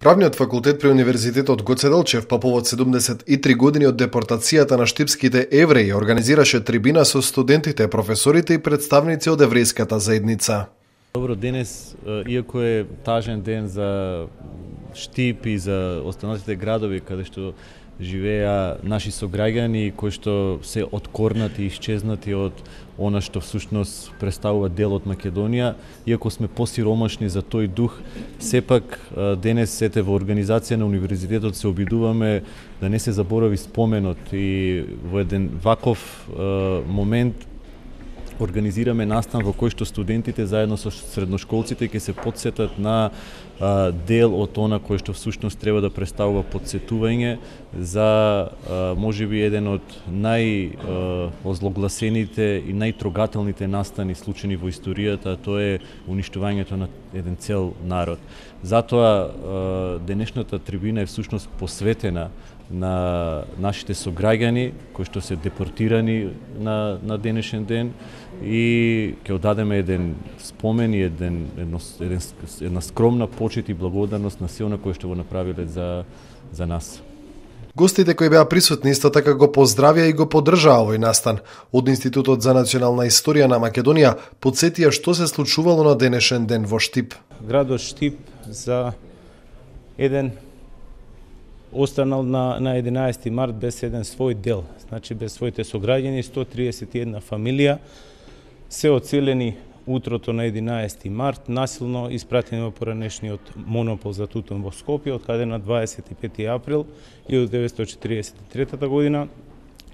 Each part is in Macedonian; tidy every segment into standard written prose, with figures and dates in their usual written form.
Правниот факултет при Универзитетот Гоце Делчев по повод 73 години од депортацијата на штипските евреи организираше трибина со студентите, професорите и представници од еврејската заедница. Добро, денес, иако е тажен ден за Штип и за останатите градови каде што живеа наши сограѓани кои што се откорнати и исчезнати од она што всушност представува дел од Македонија, иако сме посиромашни за тој дух, сепак денес сете во организација на универзитетот се обидуваме да не се заборави споменот и во еден ваков момент организираме настан во кој што студентите заедно со средношколците ќе се потсетат на дел од она кој што всушност треба да представува потсетување за можеби еден од најозлогласените и најтрогателните настани случени во историјата, тоа е уништувањето на еден цел народ. Затоа денешната трибина е всушност посветена на нашите сограѓани кои што се депортирани на денешен ден и ќе одадеме еден спомен и една скромна почит и благодарност на се она кои што го направиле за нас. Гостите кои беа присутни исто така го поздравија и го поддржаа овој настан. Од Институтот за национална историја на Македонија потсетија што се случувало на денешен ден во Штип. Градот Штип за еден останал на 11 март без еден свој дел, значи без своите сограѓани, 131 фамилија се оцелени утрото на 11 март, насилно испратени во поранешниот монопол за тутун во Скопје, од каде на 25 април 1943 година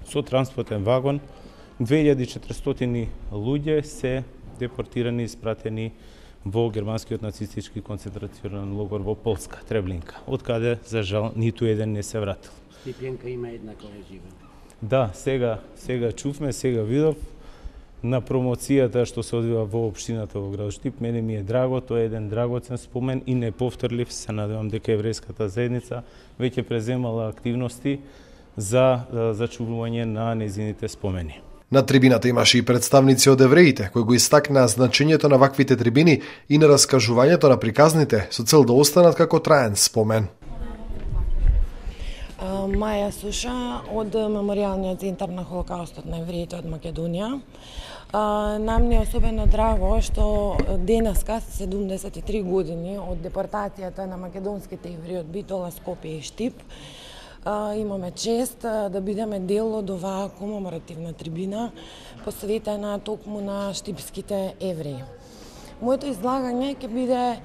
со транспортен вагон 2400 луѓе се депортирани и испратени во германскиот нацистички концентрационен логор во Полска, Треблинка, од каде, за жал, ниту еден не се вратил. Штипјанка има еднаква жива. Да, сега чувме, сега видов на промоцијата што се одвива во општината во град Штип. Мене ми е драго, тоа е еден драгоцен спомен и неповторлив. Се надевам дека еврејската заедница веќе преземала активности за зачувување на незините спомени. На трибината имаше и представници од евреите, кои го истакнаа значењето на ваквите трибини и на раскажувањето на приказните со цел да останат како траен спомен. Маја Суша од Меморијалниот центар на Холокаустот на евреите од Македонија. Нам не е особено драго што денеска 73 години од депортацијата на македонските евреи од Битола, Скопје и Штип. Имаме чест да бидеме дел од оваа комеморативна трибина посветена токму на штипските евреи. Моето излагање ќе биде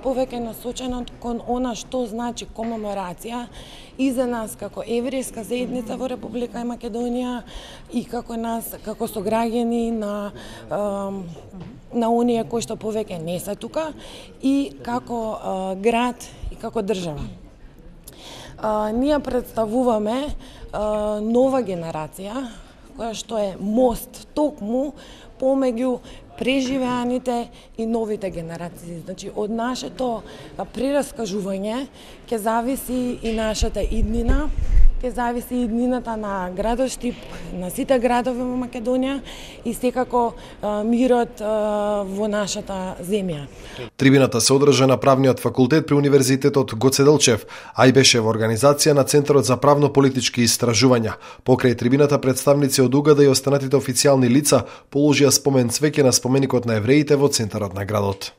повеќе насочено кон она што значи комеморација и за нас како еврејска заедница во Република Македонија и како нас, како сограѓани на оние кои што повеќе не се тука и како град и како држава. Ние представуваме нова генерација која што е мост токму помеѓу преживеаните и новите генерации. Значи, од нашето прераскажување ќе зависи и нашата иднина, ќе зависи и иднината на градот Штип, на сите градови во Македонија и секако мирот во нашата земја. Трибината се одржа на Правниот факултет при Универзитетот Гоце Делчев, а и беше во организација на Центарот за правно-политички истражувања. Покрај трибината представници од УГД и останатите официјални лица положија спомен цвеќе на споменикот на евреите во центарот на градот.